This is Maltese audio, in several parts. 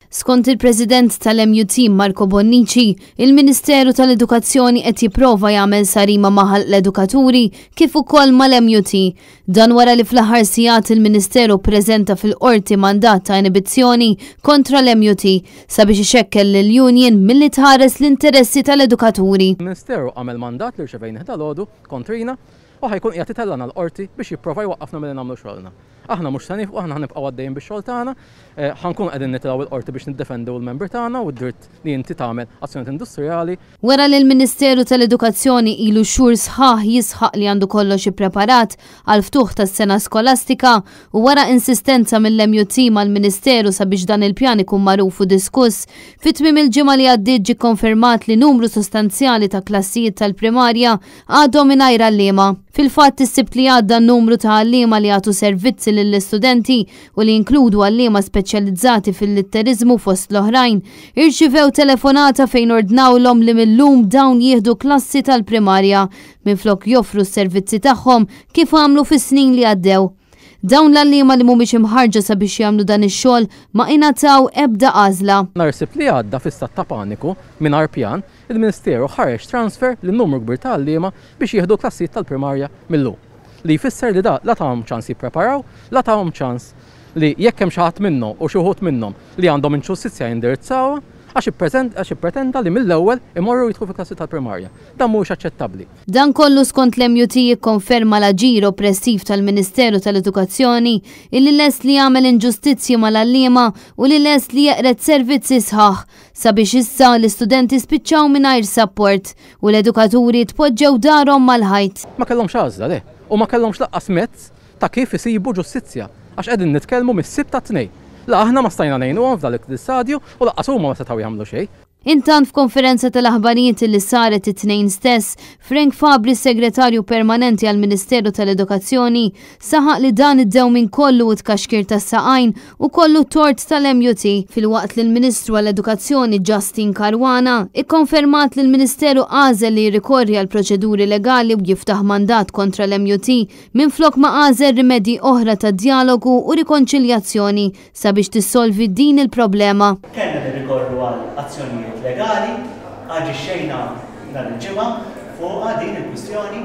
Skont il-President tal-MUT Marco Bonnici, il-Ministeru tal-Edukazzjoni qed jipprova jagħmel sarima ma' ħalq l-edukaturi kif ukoll mal-MUT. Dan wara li fl-aħħar sigħat il-Ministeru ppreżenta fil-Qorti mandat ta' inibizzjoni kontra l-MUT sabiex ixekkel lill-union milli tħares l-interessi tal-edukaturi. Il-Ministeru għamel mandat li rċevejnih dalgħodu kontrina u ħa jkun qiegħed itellagħna l-Qorti biex jipprova jwaqqafna milli nagħmlu xogħolna. Aħna mhux se nieqfu, aħna ħa nibqgħu għaddejjin bix-xogħol tagħna, ħa nkunu qegħdin nitilgħu l-Qorti biex niddefendu l-membri tagħna u d-dritt li inti tagħmel azzjonijiet industrijali. Wara li l-Ministeru tal-Edukazzjoni ilu xhur sħaħ jisħaq li għandu kollox ippreparat għall-ftuħ tas-sena skolastika u wara insistenza mill-MUT mal-Ministeru sabiex dan il-pjan ikun magħruf u diskuss, fi tmiem il-ġimgħa li għaddiet ġie kkonfermat li numru sostanzjali ta' klassijiet tal-primarja għadhom mingħajr għalliema. Fil-fatt, is-Sibt li għadda numru ta' għalliema li jagħtu servizzi lill-istudenti u li jinkludu għalliema speċjalizzati fil-litteriżmu fost l-oħrajn, irċivew telefonata fejn ordnawlhom li mil-lum dawn jieħdu klassi tal-primarja minflok joffru s-servizzi tagħhom kif għamlu fis-snin li għaddew. Dawn l-għalliema li mhumiex imħarrġa sabiex jagħmlu dan ix-xogħol ma ingħataw ebda għażla. Nhar is-Sibt li għadda fi stat ta' paniku, mingħajr pjan, Il-Ministeru ħareġ transfer lil numru kbir ta' għalliema biex jieħdu l-klassijiet tal-primarja mil-lum. Li jfisser li da la tahom ċans jippreparaw, la tahom ċans li jekk hemm xi ħadd minnhom u xi wħud minnhom li għandhom inġustizzja jindirizzawha għax għax ippretenda li mill-ewwel imorru jidħlu fil-klassi tal-primarja. Dan mhuwiex aċċettabbli. Dan kollu skont l-MUT jikkonferma l-aġir oppressiv tal-Ministeru tal-Edukazzjoni illi lest li jagħmel inġustizzji mal-għalliema u li lest li jeqred servizzi sħaħ Sabiex issa l-istudenti spiċċaw mingħajr sapport u l-edukaturi tpoġġew darhom mal-ħajt. Ma kellhomx għażla, le. U ma kellhomx lanqas mezz ta' kif isibu ġustizzja. Għax qegħdin nitkellmu mis-Sibt għat-Tnejn. La aħna ma stajna ngħinuhom f'dan l-istadju u lanqas huma ma setgħu jagħmlu xejn. Intant f'konferenza tal-aħbarijiet li saret it-Tnejn stess, Frank Fabri s-Segretarju Permanenti għall-Ministeru tal-Edukazzjoni Saħaq li dan id-dewmien kollu u tkaxkir tas-saqajn hu kollu tort tal-MUT, filwaqt li l-Ministru għall-Edukazzjoni Justyne Caruana ikkonfermat li l-Ministeru għażel li jirrikorri għal proċeduri legali u jiftaħ mandat kontra l-MUT minflok ma għażel rimedji oħra ta' djalogu u rikonċiljazzjoni sabiex tissolvi din il-problema. Kellna nirrikorru għal azzjonijiet legali, aġixxejna nhar il-Ġimgħa fuqha din il-kwistjoni.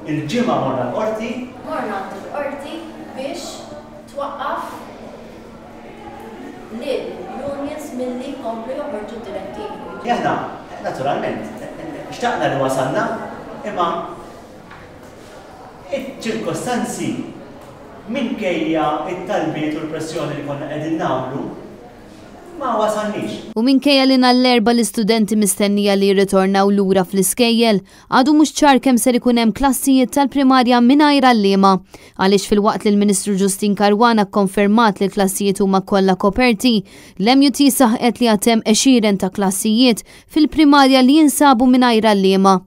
Il-Ġimgħa morna l-Qorti. Morna għand il-Qorti biex twaqqaf lill-unions milli jkomplu joħorġu d-direttivi. Aħna, naturalment, xtaqna li wasalna, imma iċ-ċirkostanzi minkejja t-talbiet u l-pressjoni li konna qegħdin nagħmlu, ma wasalniex. U minkejja li nhar l-Erbgħa l-istudenti mistennija li jirritornaw lura fl-iskejjel, għadu mhux ċar kemm ser ikun hemm klassijiet tal-primarja mingħajr għalliema. Għaliex filwaqt li l-Ministru Justyne Caruana kkonfermat li l-klassijiet huma kollha koperti, l-MUT saħqet li għad hemm għexieren ta' klassijiet fil-primarja li jinsabu mingħajr għalliema.